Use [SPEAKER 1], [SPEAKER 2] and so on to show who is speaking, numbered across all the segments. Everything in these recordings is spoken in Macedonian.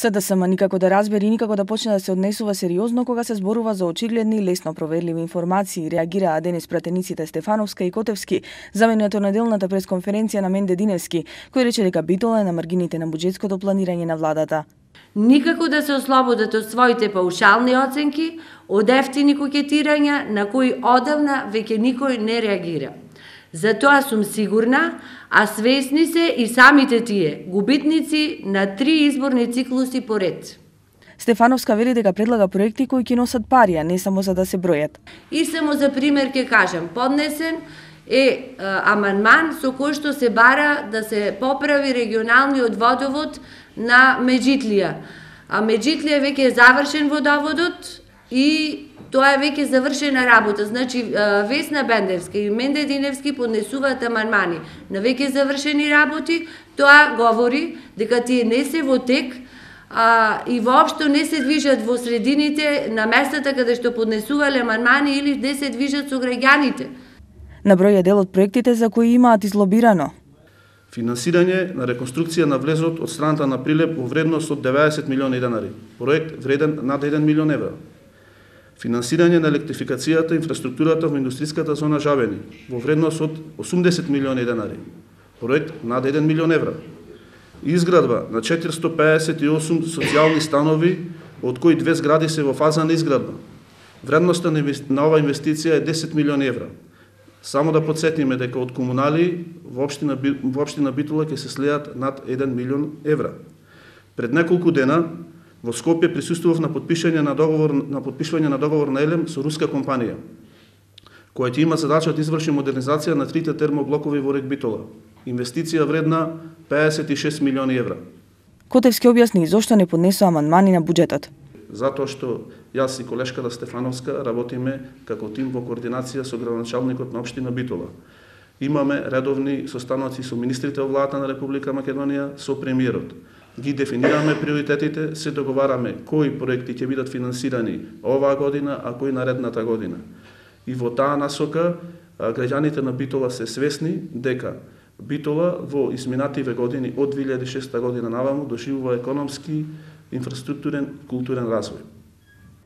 [SPEAKER 1] СДСМ никако да разбери и никако да почне да се однесува сериозно кога се зборува за очигледни и лесно проверливи информации, реагираа денес пратениците Стефановска и Котевски за менето на делната пресконференција на Менде Диневски, кој рече дека Битола е на маргините на буџетското планирање на владата.
[SPEAKER 2] Никако да се ослободат од своите паушални оценки, од ефтини кокетирања на кои одавна веќе никој не реагира. Затоа сум сигурна, а свесни се и самите тие, губитници на 3 изборни циклуси поред.
[SPEAKER 1] Стефановска вели дека предлага проекти кои ќе носат пари, а не само за да се бројат.
[SPEAKER 2] И само за пример ќе кажам, поднесен е амандман со кој што се бара да се поправи регионалниот водовод на Меджитлија. А Меджитлија веќе е завршен водоводот и тоа е веќе завршена работа. Значи, Весна Бендевска и Менде Диневски поднесуваат амандмани на веќе завршени работи. Тоа говори дека тие не се во тек и воопшто не се движат во средините на местата каде што поднесувале амандмани или не се движат со граѓаните.
[SPEAKER 1] На број е дел од проектите за кои имаат излобирано.
[SPEAKER 3] Финансирање на реконструкција на влезот од страната на Прилеп во вредност од 90 милиони денари. Проект вреден над 1 милион евра. Финансирање на електрификацијата и инфраструктурата во индустриската зона Жабени во вредност од 80 милиони денари. Проект над 1 милион евра. Изградба на 458 социјални станови, од кои 2 згради се во фаза на изградба. Вредноста на ова инвестиција е 10 милиони евра. Само да подсетиме дека од комунали во општина Битола ќе се слеат над 1 милион евра. Пред неколку дена во Скопје присуствував на подпишување на договор на Елем со руска компанија, која ќе има задача да изврши модернизација на 3 термоблокови во Рек Битола. Инвестиција вредна 56 милиони евра.
[SPEAKER 1] Котевски објасни зошто не поднесува амандмани на буџетот.
[SPEAKER 3] Затоа што јас и колешката Стефановска работиме како тим во координација со градоначалникот на општина Битола. Имаме редовни состаноци со министрите во владата на Република Македонија, со премиерот. Ги дефинираме приоритетите, се договараме кои проекти ќе бидат финансирани оваа година, а кои наредната година. И во таа насока граѓаните на Битола се свесни дека Битола во изминативе години од 2006 година наваму доживува економски, инфраструктурен, културен развој.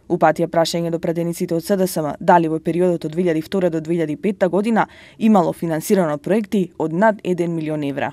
[SPEAKER 1] Упатија прашање до пратениците од СДСМ дали во периодот од 2002 до 2005 година имало финансирано проекти од над 1 милион евра.